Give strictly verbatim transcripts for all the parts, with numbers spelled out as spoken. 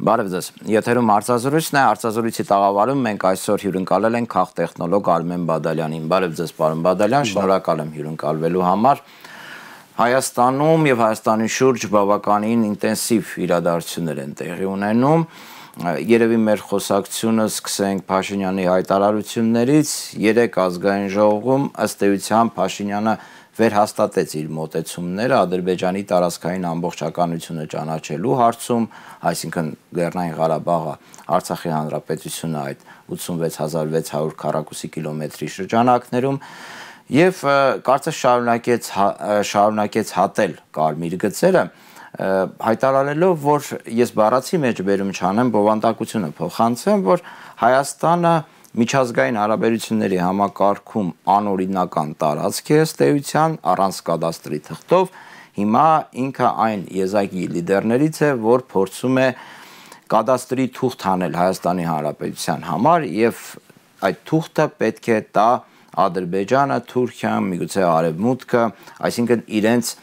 Բարև ձեզ։ Եթերում հարցազրույցն է, հարցազրույցի տաղավարում մենք այսօր հյուրընկալել ենք քաղտեխնոլոգ Արմեն Բադալյանին։ Բարև ձեզ, պարոն Բադալյան, շնորհակալ եմ հյուրընկալվելու համար։ Հայաստանում եւ Հայաստանի շուրջ բավականին ինտենսիվ իրադարձություններ են տեղի ունենում։ Երևի մեր խոսակցությունը սկսենք Փաշինյանի հայտարարություններից։ Երեք ազգային ժողովում ըստ էության Փաշինյանը վերհաստատեց իր մոտեցումները Ադրբեջանի տարածքային ամբողջականությունը ճանաչելու հարցում, այսինքն Լեռնային Ղարաբաղը, Արցախի հանրապետությունը այդ ութսունվեց հազար վեց հարյուր քառակուսի կիլոմետրի շրջանակներում եւ կարծես շարունակեց շարունակեց հատել կարմիր գծերը, հայտարարելով, որ ես բառացի մեջ բերում չանեմ, բովանդակությունը փոխանցեմ, որ Հայաստանը միջազգային հարաբերությունների համակարգում անօրինական տարածք է ըստ էության առանց կադաստրի թղթով, հիմա ինքը այն եզակի լիդերներից է, որ փորձում է կադաստրի թուղթ անել Հայաստանի Հանրապետության համար եւ այդ թուղթը պետք է տա Ադրբեջանը, Թուրքիան, միգուցե Արևմուտքը, այսինքն իրենց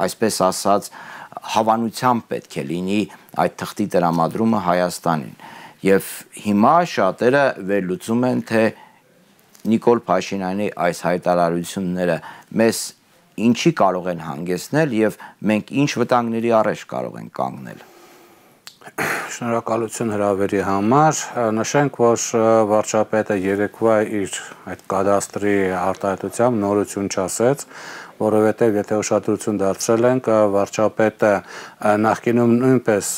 այսպես ասած հավանությամբ պետք է լինի այդ թղթի տրամադրումը Հայաստանին։ Եվ հիմա շատերը վերլուծում են, թե Նիկոլ Փաշինյանի այս հայտարարությունները մեզ ինչի կարող են հանգեցնել եւ մենք ինչ վտանգների առաջ կարող ենք կանգնել։ Շնորհակալություն հրավերի համար, նշենք, որ վարչապետը երեկվա իր այդ կադաստրի արտահայտությամբ նորություն չասեց, որովհետև եթե ուշադրություն դարձրել ենք, վարչապետը նախկինում նույնպես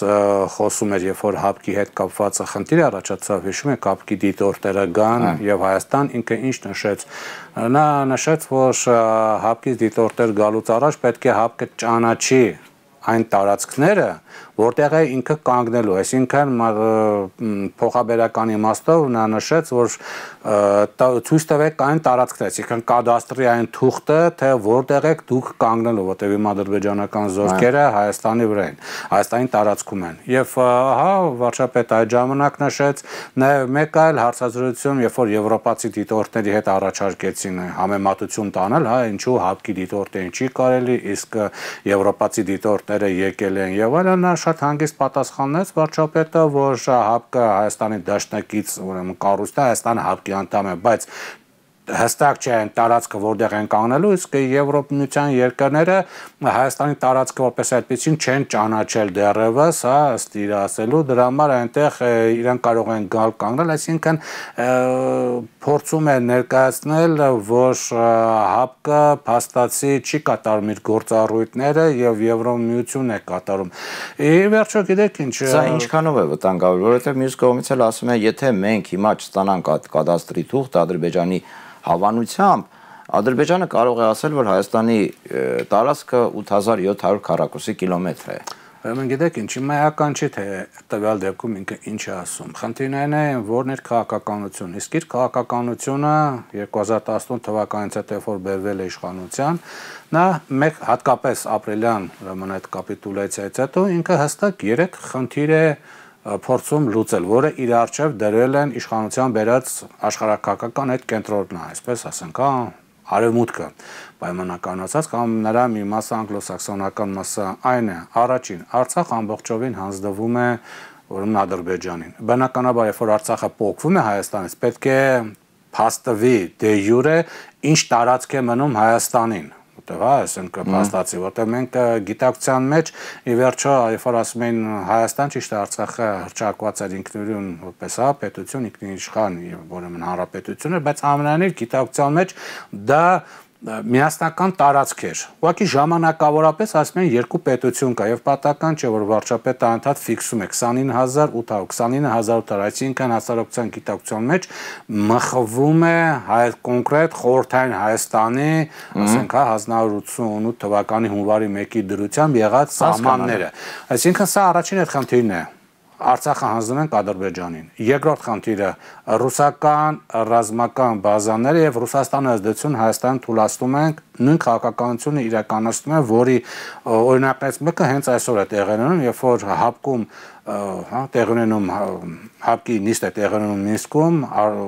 խոսում էր, երբ որ հապկի հետ կապված խնդիր առաջացավ, հիշում եք, հապկի դիտորդերը գան եւ Հայաստան, ինքը ինչ նշեց, նա նշեց, որ հապկի դիտորդեր գալուց առաջ պետք է հապկը ճանաչի այն տարածքները, որտեղ է ինքը կանգնելու, այսինքն փոխաբերական իմաստով նա նշեց, որ ցույց տվեք այն տարածքները, այսինքն կադաստրի այն թուղթը, թե որտեղ եք դուք կանգնելու, որտեղ իմ ադրբեջանական զորքերը Հայաստանի վրա են, Հայաստանի տարածքում են։ Եվ ահա վարչապետը այդ ժամանակ նշեց, նաև մեկ այլ հարցազրույցում, երբ որ եվրոպացի դիտորդների հետ առաջարկեցին համեմատություն տանել, հա, ինչու հապկի դիտորդը ինչի կարելի, իսկ եվրոպացի դիտորդները եկել են եւ այլն, նա շատ հանգիստ պատասխանեց վարչապետը, որ հապկը Հայաստանի դաշնակից, ուրեմն կառույցն է, Հայաստանը հապկի անդամ է, բայց հստակ չէ այն տարածքը որտեղ են կանգնելու, իսկ Եվրոպայության երկրները Հայաստանի տարածքը որպես այդպեսին չեն ճանաչել դեռևս, հա, ըստ իր ասելու, դրա համար այնտեղ իրեն կարող են գալ կանգնել, այսինքն փորձում է ներկայացնել, որ հապկը փաստացի չի կատարում իր գործառույթները եւ Եվրոմիությունն է կատարում։ Ի վերջո գիտեք ինչ, սա ինչքանով է վտանգավոր, որովհետեւ մյուս կողմից էլ ասում են, եթե մենք հիմա չստանանք այդ կադաստրի թուղթ Ադրբեջանի հավանությամբ, Ադրբեջանը կարող է ասել, որ Հայաստանի տարածքը ութ հազար յոթ հարյուր քառակուսի կիլոմետր է։ Ուրեմն գիտեք ինչ, իմանական չի, թե տվյալ դեպքում ինքը ինչ է ասում։ Խնդիրն այն է, որն էր քաղաքականություն։ Իսկ իր քաղաքականությունը երկու հազար տասնութ թվականից հետո որ բերվել է իշխանության, նա մեկ հատկապես ապրիլյան ուրեմն այդ կապիտուլյացիայից հետո ինքը հստակ երեք խնդիր է փորձում լուծել, որը իր առջև դրել են իշխանության բերած աշխարհակաղակական այդ կենտրոնն է, այսպես ասենք, հա, Արևմուտքը պայմանականացած կամ նրա մի մասը անգլոսաքսոնական մասը այն է, առաջին, Արցախ ամբողջովին հանձնվում է ուրեմն Ադրբեջանին։ Բնականաբար, երբ որ Արցախը փոխվում է Հայաստանից, պետք է փաստվի դե յուրե ինչ տարածք է մնում Հայաստանին։ Հա, ասենք փաստացի, որտեղ մենք գիտակցության մեջ ի վերջո, երբ որ ասում են Հայաստան, ճիշտ է, Արցախը հռչակված էր ինքնուրույն որպես հա պետություն, ինքնիշխան եւ ուրեմն հանրապետություն էր, բայց ամենայնիվ գիտակցության մեջ դա միասնական տարածք էր։ Ուղղակի ժամանակավորապես ասում են երկու պետություն կա եւ պատահական չէ որ վարչապետը անդադ ֆիքսում է քսանինը հազար ութ հարյուր, քսանինը հազար ութ հարյուր, այսինքն հասարակության գիտակցության մեջ մխվում է հայ կոնկրետ խորհրդային Հայաստանի, ասենք հա հազար նորը ութսունութ թվականի հունվարի մեկի դրությամբ եղած սահմանները։ Այսինքն սա առաջին այդ խնդիրն է։ Արցախը հանձնում ենք Ադրբեջանին։ Երկրորդ խնդիրը ռուսական ռազմական բազաները եւ Ռուսաստանի ազդեցություն Հայաստանում թույլատնում ենք նույն քաղաքականությունը իրականացնում է, որի օրինակներից մեկը հենց այսօր է տեղի ունենում, երբ որ հապկում հա տեղի ունենում հապկի նիստ է տեղի ունենում Մինսկում,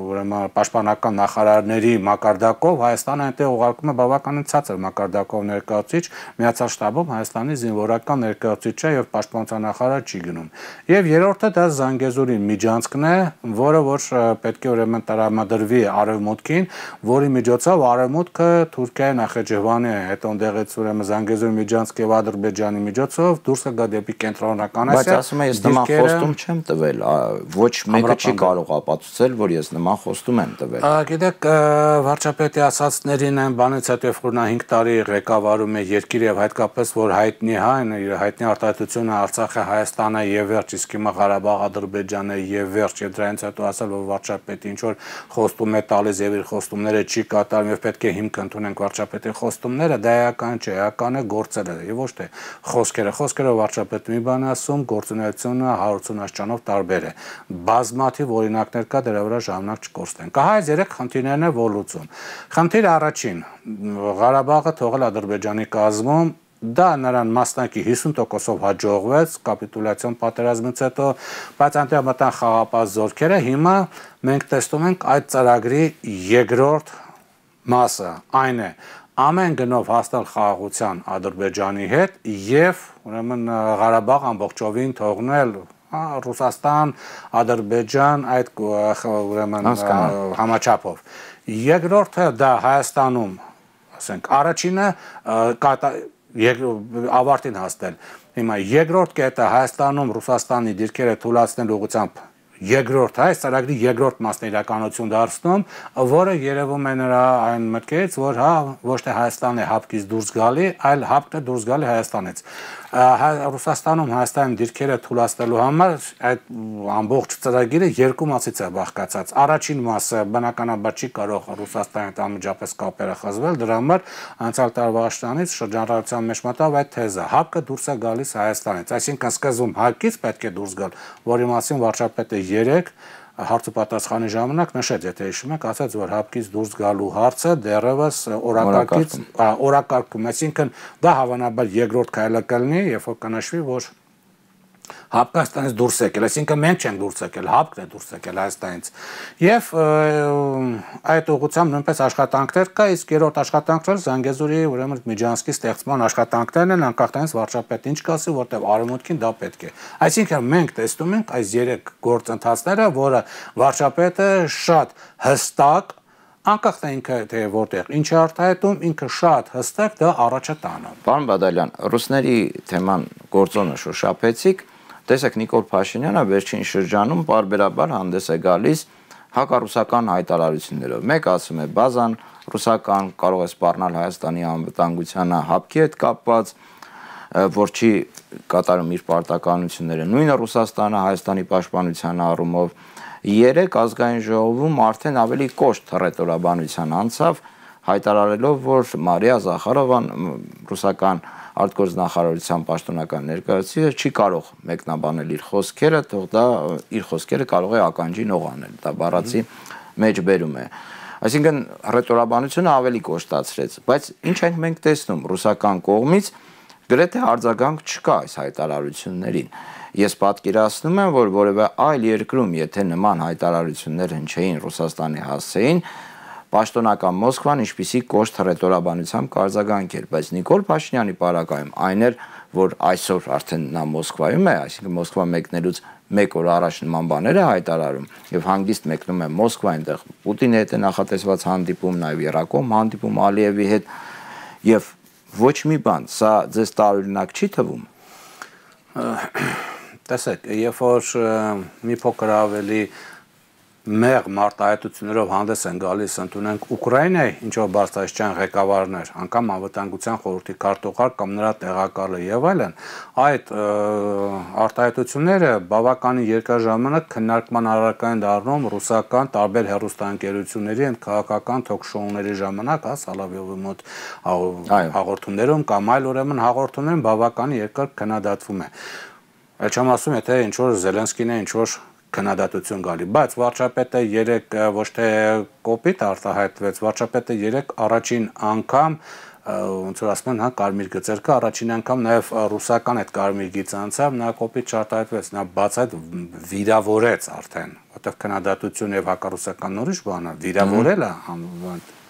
ուրեմն պաշտպանական նախարարների մակարդակով Հայաստանը այնտեղ ուղարկում է բավականին ցածր մակարդակով ներկայացուցիչ, Միացյալ Շտաբում Հայաստանի զինվորական ներկայացուցիչը եւ պաշտպանության նախարար չի գնում։ Եվ երրորդը դա Զանգեզուրի միջանցքն է, որը որ պետք է ուրեմն տրամադրվի Արևմուտքին, որի միջոցով Արևմուտքը Թուրքիայի Նախեջևանի հետ ընդդեղից ուրեմն Զանգեզուրի միջանցք եւ Ադրբեջանի միջոցով դուրս կգա դեպի կենտրոնական Ասիա։ Բայց ասում եմ, ես նման խոստում չեմ տվել, ոչ մեկը չի կարող ապացուցել, որ ես նման խոստում եմ տվել։ Գիտեք, վարչապետի ասածներին այն բանից հետո երբ որ նա հինգ տարի ղեկավարում է երկիրը եւ հատկապես որ հայտնի հայն իր հայտնի արտահայտությունը Արցախը, Հայաստանը եւ վերջ, իսկ հիմա Ղարաբաղ, Ադրբեջանը եւ վերջ, եւ դրանից հետո ասել որ վարչապետը ինչ որ խոստում է տալիս եւ իր խոստումները չի կատարում եւ պետք է հիմք ընդունենք վարչապետի խոստումները, դա էական չէ, էական է գործերը եւ ոչ թե խոսքերը։ Խոսքերը վարչապետը մի բան ասում, գործունեությունը հարյուր ութ աստիճանով տարբեր է։ Բազմաթիվ օրինակներ կա, դրա վրա ժամանակ չկորցնենք։ Ահա այս երեք խնդիրներն է որ լուծում։ Խնդիր առաջին, Ղարաբաղը թողել Ադրբեջանի կազմում, դա նրան մասնակի հիսուն տոկոսով հաջողվեց կապիտուլյացիոն պատերազմից հետո, բայց այնտեղ մտան խաղապահ զորքերը, հիմա մենք տեսնում ենք այդ ծրագրի երկրորդ մասը, այն է ամեն գնով հասնել խաղաղության Ադրբեջանի հետ եւ ուրեմն Ղարաբաղ ամբողջովին թողնել Ռուսաստան, Ադրբեջան այդ ուրեմն համաչափով։ Երկրորդը դա Հայաստանում, ասենք, առաջինը ավարտին հասնել։ Հիմա երկրորդ կետը Հայաստանում Ռուսաստանի դիրքերը թույլատնելու ուղղությամբ երկրորդ այս ծրագրի երկրորդ մասն իրականություն դարձնում, որը երևում է նրա այն մտքից, որ հա ոչ թե Հայաստանն է հապկից դուրս գալի, այլ հապկը դուրս գալի Հայաստանից։ Ռուսաստանում Հայաստանի դիրքերը թույլատնելու համար այդ ամբողջ ծրագիրը երկու մասից է բաղկացած։ Առաջին մասը բնականաբար չի կարող Ռուսաստանի հետ անմիջապես կապերը խզվել, դրա համար անցյալ տարվա աշնանից շրջանառության մեջ մտավ այդ թեզը, հապկը դուրս է գալիս Հայաստանից, այսինքն սկզբում հապկից պետք է դուրս գալ, որի մասին վարչապետը երեք հարց ու պատասխանի ժամանակ նշեց, եթե հիշում եք, ասաց, որ հապկից դուրս գալու հարցը դեռևս օրակարգից օրակարգում, այսինքն դա հավանաբար երկրորդ քայլը կլինի, երբ որ կնշվի, որ Հապկաստանից դուրս եկել, այսինքն մենք չենք դուրս եկել, հապկն է դուրս եկել Հայաստանից։ Եվ այդ ուղղությամբ նույնպես աշխատանքներ կա, իսկ երրորդ աշխատանքները Զանգեզուրի ուրեմն միջանցքի ստեղծման աշխատանքներն են, անկախ նրանից վարչապետը ինչ կասի, որտեղ Արևմուտքին դա պետք է։ Այսինքն մենք տեսնում ենք այս երեք գործընթացները, որը վարչապետը շատ հստակ անկախ թե ինքը թե որտեղ ինչ է արտահայտում, ինքը շատ հստակ դա առաջ է տանում։ Պարոն Բադալյան, ռուսների թեման գործոնը շոշափեցիք, տեսեք Նիկոլ Փաշինյանը վերջին շրջանում բարբերաբար հանդես է գալիս հակառուսական հայտարարություններով։ Մեկ ասում է բազան ռուսական, կարող է սպառնալ Հայաստանի անվտանգությանը հապկի հետ կապված, որ չի կատարում իր պարտականությունները, նույնը Ռուսաստանը Հայաստանի պաշտպանության առումով։ Երեք ազգային ժողովում արդեն ավելի կոշտ հռետորաբանության անցավ, հայտարարելով, որ Մարիա Զախարովան ռուսական արտգործնախարարության պաշտոնական ներկայացուցիչը չի կարող մեկնաբանել իր խոսքերը, թող դա իր խոսքերը կարող է ականջին օղանել, դա բառացի մեջ բերում է։ Այսինքն հռետորաբանությունը ավելի կոշտացրեց, բայց ինչ ենք մենք տեսնում ռուսական կողմից գրեթե արձագանք չկա այս հայտարարություններին։ Ես պատկերացնում եմ, որ որևէ այլ երկրում, եթե նման հայտարարություններ հնչեին Ռուսաստանի հասցեին, պաշտոնական Մոսկվան ինչպիսի կոշտ հռետորաբանությամբ կարձագանքեր, բայց Նիկոլ Փաշինյանի պարագայում այն էր, որ այսօր արդեն նա Մոսկվայում է, այսինքն Մոսկվա մեկնելուց մեկ օր առաջ նման բաներ է հայտարարում եւ հանգիստ մեկնում է Մոսկվա, այնտեղ Պուտինի հետ է նախատեսված հանդիպում, նաեւ Երակոմ հանդիպում Ալիևի հետ եւ ոչ մի բան, սա ձեզ տարօրինակ չի թվում։ Տեսեք, երբ որ մի փոքր ավելի մեղ մարտահայտություններով հանդես են գալիս, ընդունենք Ուկրաինայի ինչ-որ բարձրաստիճան ղեկավարներ, անգամ անվտանգության խորհրդի քարտուղար կամ նրա տեղակալը եւ այլն, այդ արտահայտությունները բավականին երկար ժամանակ քննարկման առարկա են դառնում ռուսական տարբեր հեռուստաընկերությունների and քաղաքական թոք-շոուների ժամանակ, հա, Սալավյովի մոտ հաղորդումներում կամ այլ ուրեմն հաղորդումներում բավականին երկար քննադատվում է։ Այլ չեմ ասում, եթե ինչ-որ Զելենսկին է ինչ-որ քննադատություն գալի, բայց վարչապետը երեք ոչ թե կոպիտ արտահայտվեց, վարչապետը երեք առաջին անգամ ոնց որ ասում են, հա, կարմիր գծեր կա, առաջին անգամ նաև ռուսական այդ կարմիր գիծը անցավ, նա կոպիտ չարտահայտվեց, նա բաց այդ վիրավորեց արդեն, որտեղ քննադատություն եւ հակառուսական ուրիշ բան է, վիրավորելը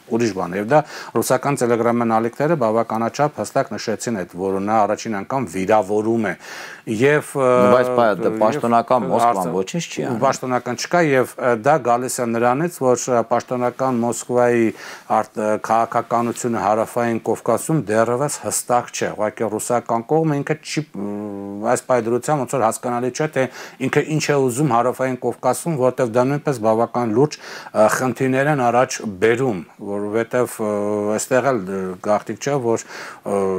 ուրիշ բան է, եւ դա ռուսական տելեգրամյան ալիքները բավականաչափ հստակ նշեցին այդ, որ նա առաջին անգամ վիրավորում է եւ բայց պաշտոնական Մոսկվան ոչինչ չի անում, պաշտոնական չկա եւ դա գալիս է նրանից, որ պաշտոնական Մոսկվայի քաղաքականությունը հարավային Կովկասում դեռևս հստակ չէ, ուղղակի ռուսական կողմը ինքը չի այս պայդրությամբ ոնց որ հասկանալի չէ, թե ինքը ինչ է ուզում հարավային Կովկասում, որտեղ դա նույնպես բավական լուրջ խնդիրներ են առաջ բերում, որովհետև այստեղ էլ գաղտնիք չէ, որ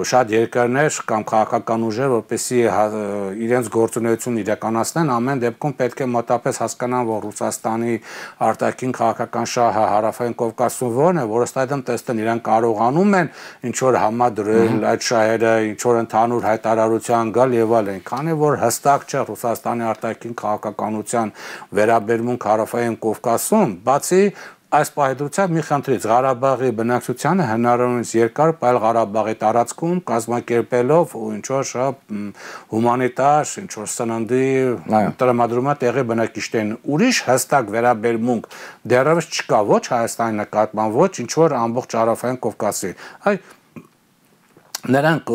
շատ երկրներ կամ քաղաքական ուժեր, որպեսզի իրենց գործունեությունն իրականացնեն, ամեն դեպքում պետք է մոտապես հասկանան, որ Ռուսաստանի արտաքին քաղաքական շահը հարավային Կովկասում որն է, որ ըստ այդմ տեստեն իրենք կարողանում են ինչ որ համադրել այդ շահերը, ինչ որ ընդհանուր հայտարարության գալ եւ այլն, քանի որ հստակ չէ Ռուսաստանի արտաքին քաղաքականության վերաբերմունք հարավային Կովկասում, բացի այս պահեդրությամբ մի խնդրից Ղարաբաղի բնակչությանը հնարավորինս երկար պայել Ղարաբաղի տարածքում կազմակերպելով ու ինչ որ հումանիտար, ինչ որ սննդի տրամադրումա տեղի բնակիչներին ուրիշ հստակ վերաբերմունք դեռևս չկա ոչ Հայաստանի նկատմամբ, ոչ ինչ որ ամբողջ հարավային Կովկասի, այ նրանք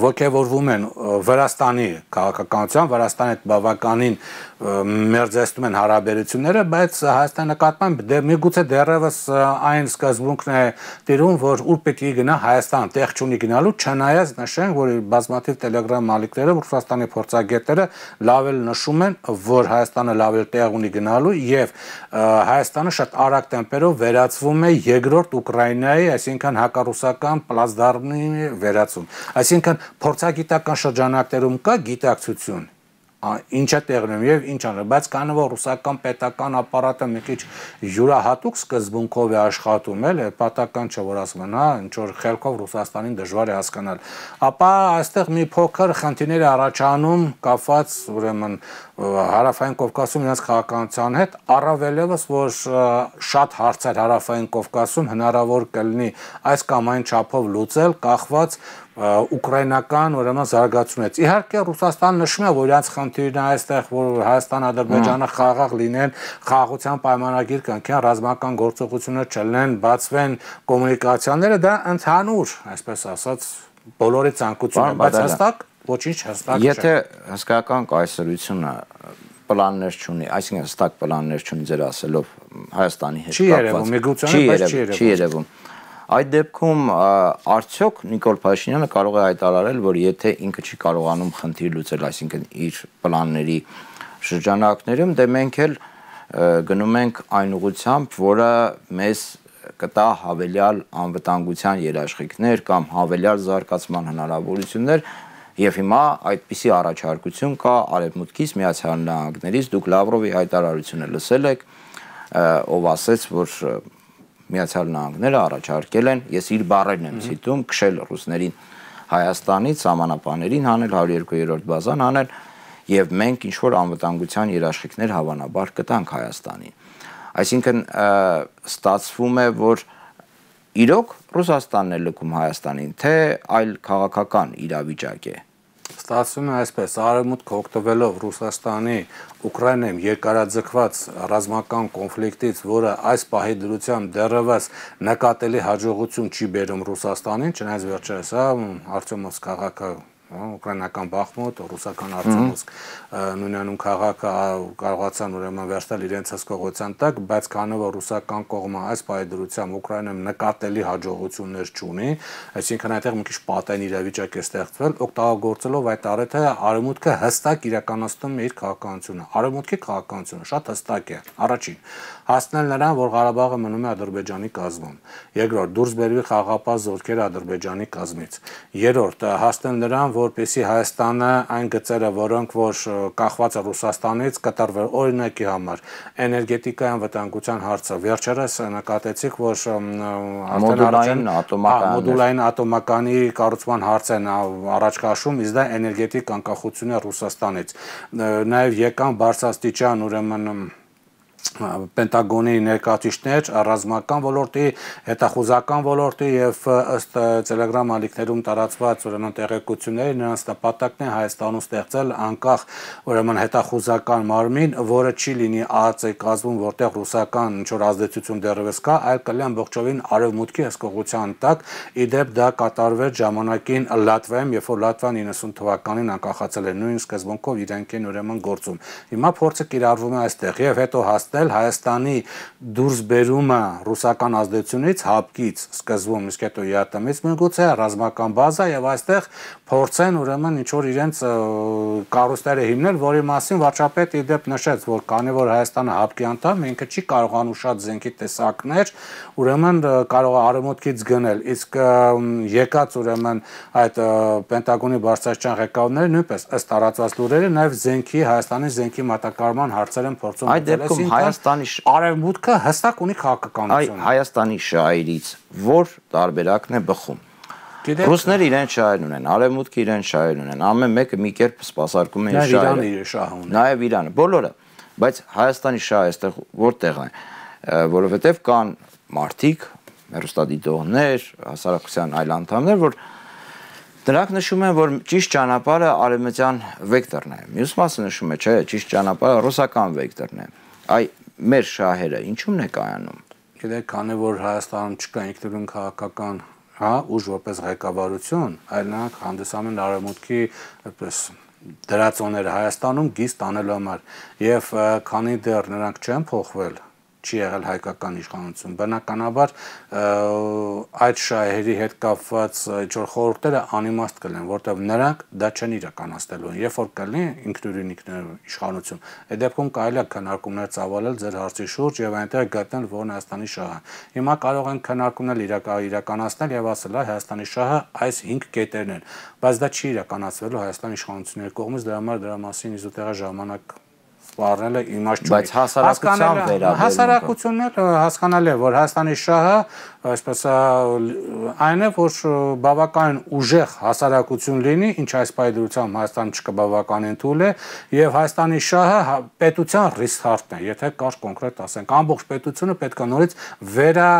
ոգևորվում են Վրաստանի քաղաքականության, Վրաստանի հետ բավականին մերձեցնում են հարաբերությունները, բայց Հայաստանի նկատմամբ միգուցե դեռևս այն սկզբունքն է տիրում, որ ուր պետք է գնա Հայաստան տեղ չունի գնալու, չնայած նշենք, որ բազմաթիվ տելեգրամ ալիքները Ռուսաստանի փորձագետները լավ էլ նշում են, որ Հայաստանը լավ էլ տեղ ունի գնալու եւ Հայաստանը շատ արագ տեմպերով վերածվում է երկրորդ Ուկրաինայի, այսինքն հակառուսական պլացդարմի վերածում։ Այսինքն փորձագիտական շրջանակներում կա գիտակցություն, ինչ է տեղնում եւ ինչ անում, բայց քանի որ ռուսական պետական ապարատը մի քիչ յուրահատուկ սկզբունքով է աշխատում, էլ պատական չէ, որ ասում են, հա, ինչ որ խելքով Ռուսաստանին դժվար է հասկանալ, ապա այստեղ մի փոքր խնդիրներ առաջանում կապված ուրեմն հարավային Կովկասում իրենց քաղաքականության հետ, առավելևս որ շատ հարցեր հարավային Կովկասում հնարավոր կլինի այս կամ այն չափով լուծել, կախված ուկրաինական ուրեմն զարգացումից։ Իհարկե Ռուսաստանը նշում է, որ իրենց խնդիրն է այստեղ, որ Հայաստան-Ադրբեջանը խաղաղ լինեն, խաղաղության պայմանագիր կնքեն, ռազմական գործողություններ չլինեն, բացվեն կոմունիկացիաները, դա ընդհանուր, այսպես ասած, բոլորի ցանկությունն է, բայց հստակ ոչինչ հստակ չէ։ Եթե հսկայական կայսրությունը պլաններ չունի, այսինքն հստակ պլաններ չունի ձեր ասելով Հայաստանի հետ կապված, չի երևում, չի երևում։ Այդ դեպքում արդյոք Նիկոլ Փաշինյանը կարող է հայտարարել, որ եթե ինքը չի կարողանում խնդիր լուծել, այսինքն իր պլանների շրջանակներում, դե մենք էլ գնում ենք այն ուղղությամբ, որը մեզ կտա հավելյալ անվտանգության երաշխիքներ կամ հավելյալ զարգացման հնարավորություններ, եւ հիմա այդպիսի առաջարկություն կա Արևմուտքից, Միացյալ Նահանգներից, դուք Լավրովի հայտարարությունը լսել եք, ով ասաց, որ Միացյալ Նահանգները առաջարկել են, ես իր բառերն եմ ցիտում, քշել ռուսներին Հայաստանից, սահմանապահներին հանել, հարյուր երկու բազան հանել եւ մենք ինչ որ անվտանգության երաշխիքներ հավանաբար կտանք Հայաստանին։ Այսինքն ստացվում է, որ իրոք Ռուսաստանն է լքում Հայաստանին, թե այլ քաղաքական իրավիճակ է։ Ստացվում է այսպես, Արևմուտքը օգտվելով Ռուսաստանի Ուկրաինայում երկարաձգված ռազմական կոնֆլիկտից, որը այս պահի դրությամբ դեռևս նկատելի հաջողություն չի բերում Ռուսաստանին, չնայած վերջերս Արտյոմովսկ քաղաքը, ուկրաինական Բախմուտ, ռուսական Արտյոմովսկ նույնանուն քաղաքը կարողացան ուրեմն վերցնել իրենց հսկողության տակ, բայց քանի որ ռուսական կողմը այս պահի դրությամբ Ուկրաինայում նկատելի հաջողություններ չունի, այսինքն այդտեղ մի քիչ պատային իրավիճակ է ստեղծվել, օգտագործելով այդ առիթը Արևմուտքը հստակ իրականացնում է իր քաղաքականությունը։ Արևմուտքի քաղաքականությունը շատ հստակ է։ Առաջին, հասնել նրան, որ Ղարաբաղը մնում է Ադրբեջանի կազմում։ Երկրորդ, դուրս բերվի խաղաղապահ զորքերը Ադրբեջանի կազմից։ Երրորդ, հասնել նրան, որպեսզի Հայաստանը այն գծերը, որոնք որ կախված է Ռուսաստանից, կտրվեն օրինակի համար, էներգետիկայի անվտանգության հարցը։ Վերջերս նկատեցիք, որ մոդուլային ատոմական մոդուլային ատոմականի կառուցման հարցն առաջ քաշում, իսկ դա էներգետիկ անկախություն է Ռուսաստանից։ Նաև եկան բարձրաստիճան ուրեմն Պենտագոնի ներկայացուցիչներ ռազմական ոլորտի, հետախուզական ոլորտի եւ ըստ Telegram ալիքներում տարածված ուրեմն տեղեկությունների նրանց նպատակն է Հայաստանում ստեղծել անկախ ուրեմն հետախուզական մարմին, որը չի լինի ԱԱԾ-ի կազմում, որտեղ ռուսական ինչ-որ ազդեցություն դեռևս կա, այլ կլինի ամբողջովին արևմուտքի հսկողության տակ։ Իդեպ դա կատարվեց ժամանակին Լատվիայում, երբ որ Լատվիան իննսուն թվականին անկախացել էր, նույն սկզբունքով իրենք են ուրեմն գործում։ Հիմա փորձը կիրառվում է այստեղ եւ հետո հասնել Հայաստանի դուրս բերումը ռուսական ազդեցությունից, հապկից, սկզբում, իսկ հետո ԵԱՏՄ-ից միգուցե ռազմական բազա եւ այստեղ փորձեն ուրեմն ինչ որ իրենց կառույցները հիմնել, որի մասին վարչապետը իդեպ նշեց, որ քանի որ Հայաստանը հապկի անդամ, ինքը չի կարողանում շատ զենքի տեսակներ, ուրեմն կարող է արևմուտքից գնել, իսկ եկած ուրեմն այդ Պենտագոնի բարձրաստիճան ղեկավարները նույնպես ըստ տարածված լուրերի նաեւ զենքի Հայաստանի զենքի մատակարարման հարցեր են փորձում Այդ դեպքում Հայաստանի արևմուտքը հստակ ունի քաղաքականություն։ Հայաստանի շահերից որ տարբերակն է բխում։ Ռուսները իրեն շահեր ունեն, արևմուտքը իրեն շահեր ունեն, ամեն մեկը մի կերպ սպասարկում են շահերը։ Իրանը իր շահը ունի։ Նաև Իրանը, բոլորը, բայց Հայաստանի շահը այստեղ որտեղ է, որովհետև կան մարդիկ, հեռուստադիտողներ, հասարակության այլ անդամներ, որ դրանք նշում են, որ ճիշտ ճանապարհը արևմտյան վեկտորն է։ Մյուս մասը նշում է, չէ, ճիշտ ճանապարհը ռուսական վեկտորն է։ Այ մեր շահերը ինչու՞մն է կայանում։ Գիտեք, քանի որ Հայաստանում չկա ինքնուրույն քաղաքական, հա, ուժ որպես ղեկավարություն, այլ նրանք հանդիսանում են արևմուտքի այդպես դրածոները Հայաստանում գիծ տանելու համար եւ քանի դեռ նրանք չեն փոխվել չի եղել հայկական իշխանություն, բնականաբար այդ շահերի հետ կապված ինչ-որ խորհուրդները անիմաստ կլինեն, որտեղ նրանք դա չեն իրականացնելու, երբ որ կլինի ինքնուրույն իշխանություն, այդ դեպքում կարելի է քննարկումներ ծավալել ձեր հարցի շուրջ եւ այնտեղ գտնել որն Հայաստանի շահը։ Հիմա կարող են քննարկումներ իրականացնել եւ ասել, Հայաստանի շահը այս հինգ կետերն են, բայց դա չի իրականացվելու Հայաստանի իշխանությունների կողմից, դրա համար դրա մասին իզուտեղի ժամանակ սպառնելը իմաստ չունի։ Բայց հասարակության վերաբերյալ հասարակությունները հասկանալի է, որ Հայաստանի շահը այսպես այն է, որ բավականին ուժեղ հասարակություն լինի, ինչ այս պայդրությամբ Հայաստանը չկա բավականին թույլ է, եւ Հայաստանի շահը պետության ռիսկարտն է, եթե կար կոնկրետ ասենք, ամբողջ պետությունը պետք է նորից վերա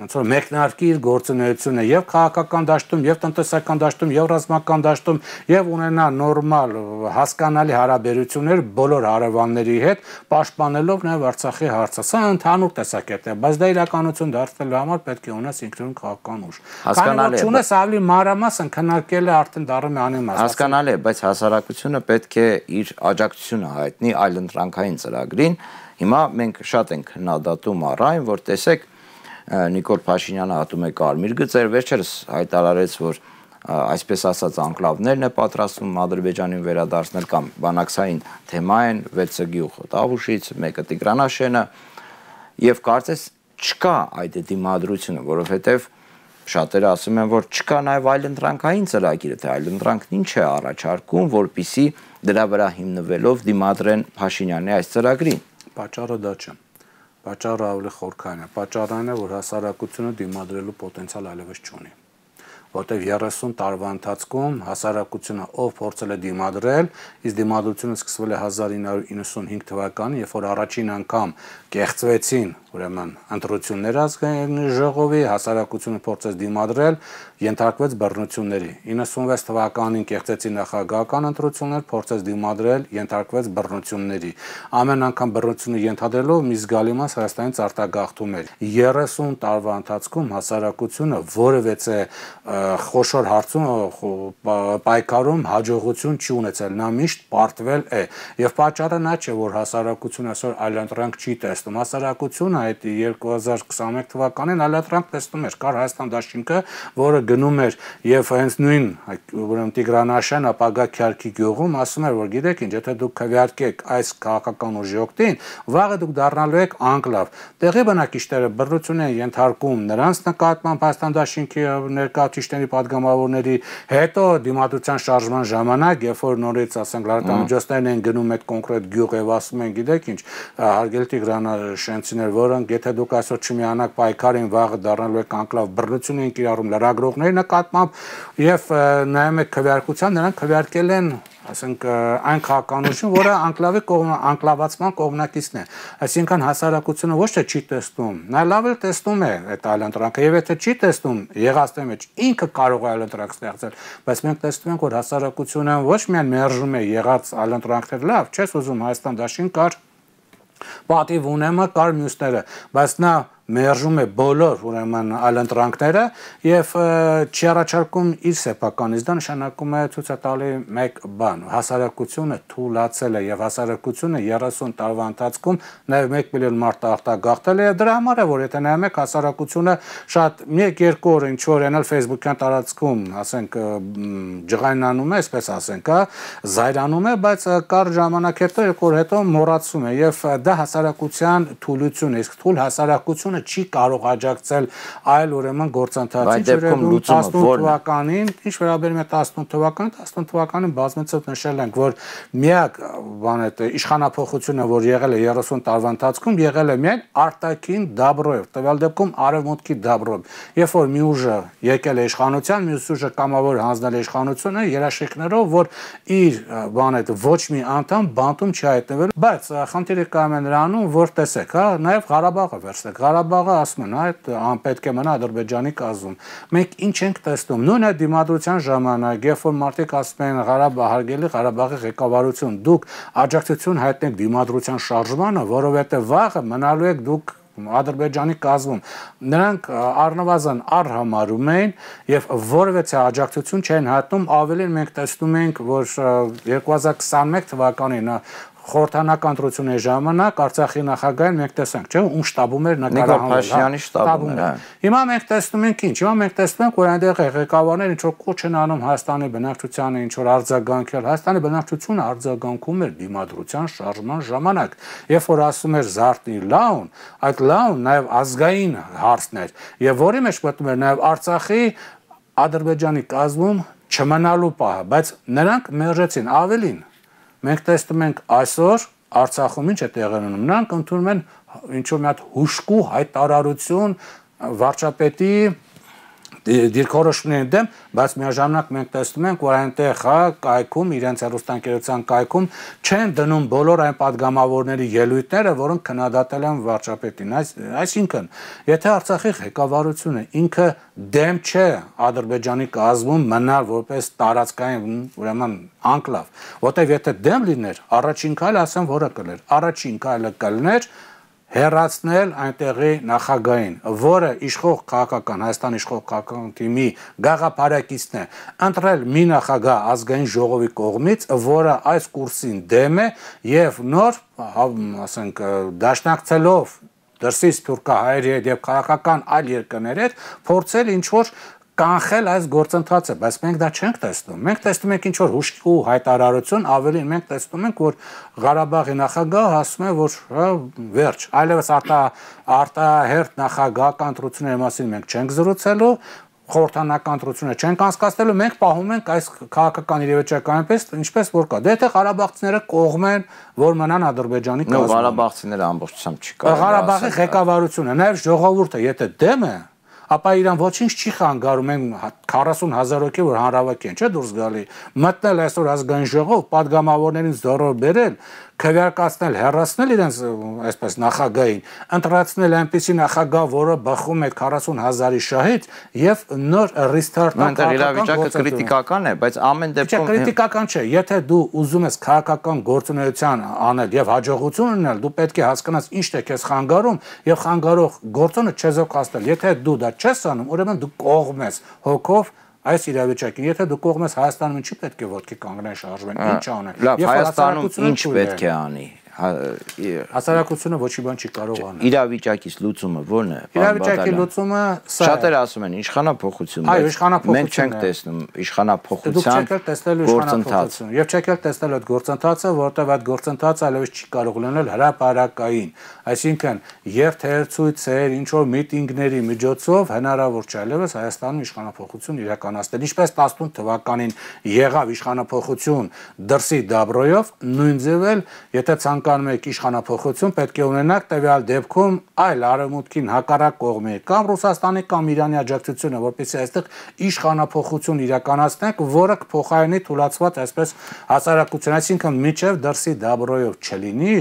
ոնց որ մեկնարկի իր գործունեությունը եւ քաղաքական դաշտում, եւ տնտեսական դաշտում, եւ ռազմական դաշտում, եւ ունենա նորմալ հասկանալի հարաբերություններ բոլոր հարևանների հետ, պաշտպանելով նաեւ Արցախի հարցը։ Սա ընդհանուր տեսակետ է, բայց դա իրականություն դարձնելու համար պետք է ունես ինքնուրույն քաղաքական ուժ։ Հասկանալի է, ունես ավելի մանրամասն քննարկել է արդեն դառնում անիմաստ։ Հասկանալի է, բայց հասարակությունը պետք է իր աջակցությունը հայտնի այլընտրանքային ծրագրին։ Հիմա մենք շատ ենք քննադատում առ այն, որ տեսեք Նիկոլ Փաշինյանը հատում է կարմիր գծեր, վերջերս հայտարարեց, որ այսպես ասած անկլավներն է պատրաստում Ադրբեջանին վերադարձնել կամ բանակցային թեմա են վեցը գյուղ Տավուշից, մեկը Տիգրանաշենը եւ կարծես չկա այդ դիմադրությունը, որովհետեւ շատերը ասում են, որ չկա նաեւ այլընտրանքային ծրագիր, թե այլընտրանքն ինչ է առաջարկում, որպիսի դրա վրա հիմնվելով դիմադրեն Փաշինյանի այս ծրագրին։ Պատճառը դա չէ։ Պատճառը ավելի խորքային է։ Պատճառը այն է, որ հասարակությունը դիմադրելու պոտենցիալ այլևս չունի, որտեղ երեսուն տարվա ընթացքում հասարակությունը ով փորձել է դիմադրել, իսկ դիմադրությունը սկսվել է հազար ինը հարյուր իննսունհինգ թվականին, երբ որ առաջին անգամ կեղծվեցին ուրեմն ընտրություններ ազգային ժողովի, հասարակությունը փորձեց դիմադրել, ենթարկվեց բռնությունների։ իննսունվեց թվականին կեղծեցին նախագահական ընտրություններ, փորձեց դիմադրել, ենթարկվեց բռնությունների։ Ամեն անգամ բռնությունը ենթադրելով մի զգալի մաս Հայաստանից արտագաղթում էր։ երեսուն տարվա ընթացքում հասարակությունը որևէ խոշոր հարցում պայքարում հաջողություն չի ունեցել, նա միշտ պարտվել է։ Եվ պատճառը նա չէ, որ հասարակությունը այսօր այլընտրանք չի տեսնում, հասարակությունը այդ երկու հազար քսաներեք թվականին այլընտրանք տեսնում էր, կար Հայաստան դաշինքը, որը գնում էր եւ հենց նույն ուրեմն Տիգրանաշեն ապագա Քյարքի գյուղում ասում էր, որ գիտեք ինչ, եթե դուք քվեարկեք այս քաղաքական ուժի օգտին, վաղը դուք դառնալու եք անկլավ։ Տեղի բնակիչները բռնություն են ենթարկում նրանց նկատմամբ Հայաստան դաշինքի ներկայացուցիչների падգամավորների, հետո դիմադրության շարժման ժամանակ, երբ որ նորից ասենք լրատվամիջոցներն են գնում այդ կոնկրետ գյուղ եւ ասում են, գիտեք ինչ, հարգելի Տիգրանաշենցիներ, որոնք եթե դուք այսօր չմիանաք պայքարին, վաղը դառնալու եք անկլավ, բռնություն են կիրառում լրագրողների նկատմամբ եւ նայում եք քվեարկության, նրանք քվեարկել են ասենք այն քաղաքականություն, որը անկլավի անկլավացման կողմնակիցն է։ Այսինքն հասարակությունը ոչ թե չի տեսնում, նա լավ էլ տեսնում է այդ այլընտրանքը, եւ եթե չի տեսնում եղածի մեջ ինքը կարող է այլընտրանք ստեղծել, բայց մենք տեսնում ենք, որ հասարակությունը ոչ միայն մերժում է եղած այլընտրանքներ, լավ, չես ուզում Հայաստան դաշին կար պատիվ ունեմը կար մյուսները, բայց նա մերժում է բոլոր ուրեմն այլընտրանքները եւ չի առաջարկում իր սեփականից, դա նշանակում է ցույց է տալի մեկ բան, հասարակությունը թուլացել է եւ հասարակությունը երեսուն տարվա ընթացքում նաեւ մեկ միլիոն մարդ արտագաղթել է, դրա համար է, որ եթե նայում եք հասարակությունը շատ մեկ երկու օր ինչ որ այնալ Facebook-յան տարածքում, ասենք ջղայնանում է, այսպես ասենք, հա, զայրանում է, բայց կար ժամանակ հետո երկու օր հետո մոռացում է եւ դա հասարակության թուլություն է, իսկ թուլ հասարակությունը չի կարող աջակցել այլ ուրեմն գործընթացին, տասնութ թվականին, ինչ վերաբերում է տասնութ թվականին, տասնութ թվականին բազմիցս նշել ենք, որ միակ բան է իշխանափոխությունը, որ եղել է երեսուն տարվա ընթացքում, եղել է միայն արտաքին դաբրոյով, տվյալ դեպքում արևմուտքի դաբրոյով։ Երբ որ մի ուժը եկել է իշխանության, մյուս ուժը կամավոր հանձնել է իշխանությունը երաշխիքներով, որ իր բան է ոչ մի անդամ բանտում չի հայտնվել, բայց խնդիրը կայանում է նրանում, որ տեսեք, հա, նաև Ղարաբաղը վերցրեք, Ղարաբաղը ասում են, այդ անպետք է մնա Ադրբեջանի կազմում։ Մենք ինչ ենք տեսնում։ Նույն այդ դիմադրության ժամանակ, երբ որ մարդիկ ասում են Ղարաբաղ հարգելի Ղարաբաղի ղեկավարություն, դուք աջակցություն հայտնեք դիմադրության շարժմանը, որովհետև վաղը մնալու եք դուք Ադրբեջանի կազմում, նրանք առնվազն առհամարում էին եւ որևէ աջակցություն չեն հայտնում, ավելին մենք տեսնում ենք, որ երկու հազար քսաներկու թվականին խորհրդանական ընտրությունների ժամանակ Արցախի նախագահին մենք տեսանք, չէ՞, ում շտաբում էր նկարահանվել, շտաբում էր։ Հիմա մենք տեսնում ենք ինչ, հիմա մենք տեսնում ենք, որ այնտեղ ղեկավարները ինչ որ կոչ են անում Հայաստանի բնակչությանը, ինչ որ արձագանքել, Հայաստանի բնակչությունը արձագանքում էր դիմադրության շարժման ժամանակ, երբ որ ասում էր Զարթի լաուն, այդ լաուն նաև ազգային հարցն էր, եւ որի մեջ մտնում էր նաև Արցախի Ադրբեջանի կազմում չմնալու պահը, բայց նրանք մերժեցին ավելին։ Մենք տեսնում ենք այսօր Արցախում ինչ է տեղի ունենում, նրանք ընդունում են ինչ-որ մի հատ հուշկու հայտարարություն վարչապետի դիրքորոշումների դեմ, բայց միաժամանակ մենք տեսնում ենք, որ այնտեղ հա կայքում, իրենց հեռուստաընկերության կայքում չեն դնում բոլոր այն падգամավորների ելույթները, որոնք քննադատել են վարչապետին։ Այսինքն, եթե Արցախի ղեկավարությունը ինքը դեմ չէ Ադրբեջանի կազմում մնալ որպես տարածքային ուրեմն անկլավ, որտեղ եթե դեմ լիներ, առաջին քայլը ասեմ, որը կլներ, առաջին քայլը կլներ հեռացնել այնտեղի նախագահին, որը իշխող քաղաքական, Հայաստան իշխող քաղաքական թիմի գաղափարակիցն է, ընտրել մի նախագահ ազգային ժողովի կողմից, որը այս կուրսին դեմ է եւ նոր, ասենք, դաշնակցելով դրսից թուրքահայերի հետ եւ քաղաքական այլ երկրների հետ փորձել ինչ որ կանխել այս գործընթացը, բայց մենք դա չենք տեսնում։ Մենք տեսնում ենք ինչ որ հուշկու հայտարարություն, ավելին մենք տեսնում ենք, որ Ղարաբաղի նախագահը ասում է, որ վերջ, այլևս արտահերթ նախագահական ընտրությունների մասին մենք չենք զրուցելու, խորհրդանական ընտրությունը չենք անցկացնելու, մենք պահում ենք այս քաղաքական իրավիճակը այնպես, ինչպես որ կա։ Դե եթե ղարաբաղցիները կողմ են, որ մնան Ադրբեջանի կազմում։ Ղարաբաղցիները ամբողջությամբ չի կարող։ Ղարաբաղի ղեկավարությունը, նաև ժողովուրդը, եթե դեմ է, ապա իրան ոչինչ չի խանգարում են քառասուն հազար հոգի, որ հանրավակ են, չէ՞ դուրս գալի, մտնել այսօր ազգային ժողով, падգամավորներին զորով բերել, քվեարկացնել, հեռացնել իրենց այսպես նախագահին, ընտրացնել այնպիսի նախագահ, որը բխում է քառասուն հազարի շահից եւ նոր ռիստարտը այնտեղ իրավիճակը կրիտիկական է, բայց ամեն դեպքում Չէ, կրիտիկական չէ, եթե դու ուզում ես քաղաքական գործունեություն անել եւ հաջողություն ունենալ, դու պետք է հասկանաս ինչ է քեզ խանգարում եւ խանգարող գործոնը չեզոքացնել, եթե դու դա չես անում, ուրեմն դու կողմ ես հոգով այս իրավիճակին, եթե դու կողմ ես Հայաստանում ինչի պետք է ոտքի կանգնեն շարժվեն, ինչ անեն։ Լավ, Հայաստանում ինչ պետք է անի։ Հասարակությունը ոչի բան չի կարող անել։ Իրավիճակից լուծումը ո՞րն է։ Իրավիճակի լուծումը սա է։ Շատերը ասում են իշխանափոխություն, մենք չենք տեսնում իշխանափոխության գործընթացը։ Եվ չեք էլ տեսնել այդ գործընթացը, որտեղ այդ գործընթացը այլևս չի կարող լինել հրապարակային։ Այսինքն, եւ թերցույցեր, ինչ որ միտինգների միջոցով հնարավոր չէ այլևս Հայաստանում իշխանափոխություն իրականացնել։ Ինչպես տասնութ թվականին եղավ իշխանափոխություն դրսի դաբրոյով, նույն ձև էլ, եթե ցանկ ցանկանում եք իշխանափոխություն, պետք է ունենաք տվյալ դեպքում այլ արևմուտքին հակառակ կողմի կամ Ռուսաստանի կամ Իրանի աջակցությունը, որպեսզի այստեղ իշխանափոխություն իրականացնենք, որը կփոխարինի թուլացված այսպես հասարակություն, այսինքն միջև դրսի դաբրոյով չլինի,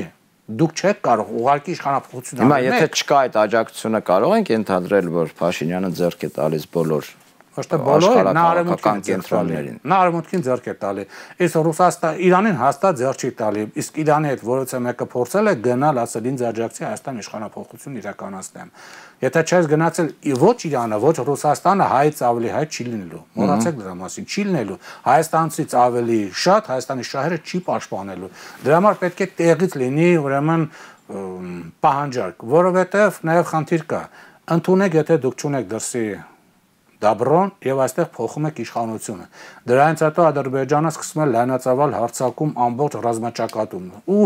դուք չեք կարող ուղղակի իշխանափոխություն անել։ Հիմա եթե չկա այդ աջակցությունը, կարող ենք ընդհանրել, որ Փաշինյանը ձեռք է տալիս բոլոր Ոչ թե բոլոր, նա արևմուտքին կենտրոններին։ Նա արևմուտքին ձեռք է տալի։ Իսկ Ռուսաստան Իրանին հաստատ ձեռք չի տալի։ Իսկ Իրանի հետ որոցը մեկը փորձել է գնալ, ասել ինձ աջակցի Հայաստան իշխանափոխություն իրականացնեմ։ Եթե չես գնացել ոչ Իրանը, ոչ Ռուսաստանը, հայից ավելի հայ չի լինելու։ Մոռացեք դրա մասին, չի լինելու։ Հայաստանցից ավելի շատ Հայաստանի շահերը չի պաշտպանելու։ Դրա համար պետք է տեղից լինի ուրեմն պահանջարկ, որովհետև նաև խնդիր կա։ Ընդունեք, եթե դուք չունեք դրսի դաբրոն եւ այստեղ փոխում եք իշխանությունը։ Դրանից հետո Ադրբեջանը սկսում է լայնածավալ հարձակում ամբողջ ռազմաճակատում ու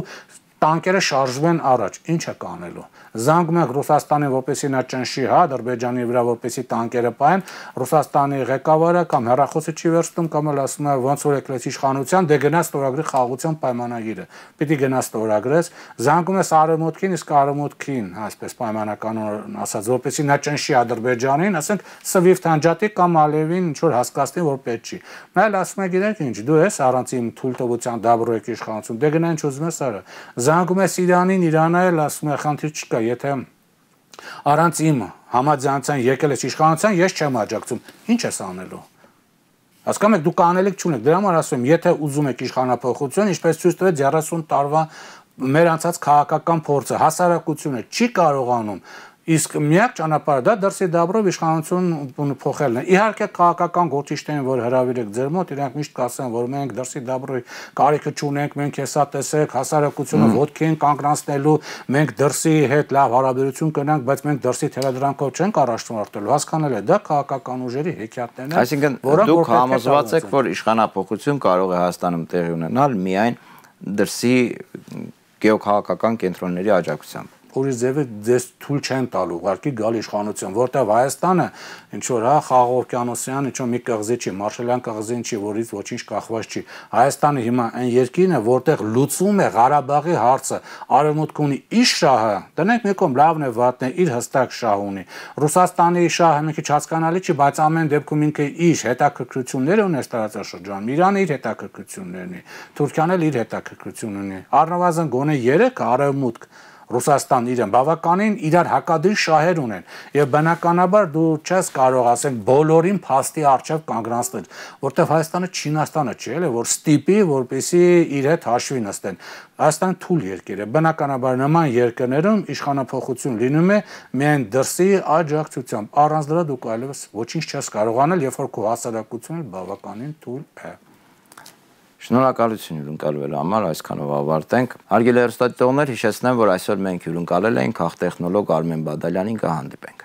տանկերը շարժվեն առաջ, ինչ է կանելու։ Զանգում եք Ռուսաստանին, որպեսզի նա ճնշի, հա, Ադրբեջանի վրա, որպեսզի տանկերը պահեն, Ռուսաստանի ղեկավարը կամ հեռախոսը չի վերցնում, կամ էլ ասում է ոնց որ եկլես իշխանության, դե գնաց ստորագրի խաղաղության պայմանագիրը։ Պիտի գնաց ստորագրես, զանգում ես արևմուտքին, իսկ արևմուտքին, այսպես պայմանականորեն ասած, որպեսզի նա ճնշի Ադրբեջանին, ասենք Սվիֆթ անջատի կամ Ալիևին ինչ որ հասկացնի, որ պետք չի։ Նա էլ ասում է, գիտեք ինչ, դու ես առանց իմ թույլտվության դաբրո եք իշխանություն, դե գնա ինչ ուզում ես արա։ Զանգում ես Իրանին, Իրանը էլ ասում է, խնդիր չկա, եթե առանց իմ համաձայնության եկել ես իշխանության, ես չեմ աջակցում։ Ինչ ես անելու։ Հասկանում եք, դուք անելիք չունեք։ Դրա համար ասում եմ, եթե ուզում եք իշխանափոխություն, ինչպես ցույց տվեց երեսուն տարվա մեր անցած քաղաքական փորձը, հասարակությունը չի կարողանում Իսկ միակ ճանապարհը դա դրսի դաբրով իշխանություն փոխելն է։ Իհարկե քաղաքական գործիչներին, որ հրավիրեք ձեր մոտ, իրանք միշտ կասեն, որ մենք դրսի դաբրոյի կարիքը չունենք, մենք հեսա տեսեք, հասարակությունը ոտքի են կանգնացնելու, մենք դրսի հետ լավ հարաբերություն կնանք, բայց մենք դրսի թելադրանքով չենք առաջնորդելու։ Հասկանալ է, դա քաղաքական ուժերի հեքիաթներն են։ Այսինքն դուք համոզված եք, որ իշխանափոխություն կարող է Հայաստանում տեղի ունենալ միայն դրսի գեոքաղաքական կենտրոնների աջակցությամբ։ Ուրիշ ձևը ձեզ թույլ չեն տալու ուղղակի գալ իշխանություն, որտեղ Հայաստանը ինչ որ հա Խաղաղ օվկիանոսյան ինչ որ մի կղզի չի, Մարշալյան կղզին չի, որից ոչինչ կախված չի։ Հայաստանը հիմա այն երկիրն է, որտեղ լուծվում է Ղարաբաղի հարցը, արևմուտքը ունի իր շահը, դնենք մի կողմ լավն է, վատն է, իր հստակ շահ ունի։ Ռուսաստանի շահը մի քիչ հասկանալի չի, բայց ամեն դեպքում ինքը իր հետաքրքրությունները ունի տարածաշրջանում, Իրանը իր հետաքրքրություններն ունի, Թուրքիան էլ իր հետաքրքրություն ունի։ Առնվազն գոնե երեք արևմուտք Ռուսաստան իրեն բավականին իրար հակադրի շահեր ունեն եւ բնականաբար դու չես կարող ասենք բոլորին փաստի արժեվ կանգնացնել, որտեղ Հայաստանը Չինաստանը չէ, էլի որ ստիպի, որպեսի իր հետ հաշվի նստեն։ Հայաստանը թույլ երկիր է, բնականաբար նման երկրներում իշխանափոխություն լինում է միայն դրսի աջակցությամբ, առանց դրա դու այլևս ոչինչ չես կարող անել, երբ որ քո հասարակությունը բավականին թույլ է։ Շնորհակալություն հյուրընկալվելու համար, այսքանով ավարտենք։ Հարգելի հեռուստադիտողներ, հիշեցնեմ, որ այսօր մենք հյուրընկալել ենք քաղտեխնոլոգ Արմեն Բադալյանին, կհանդիպենք։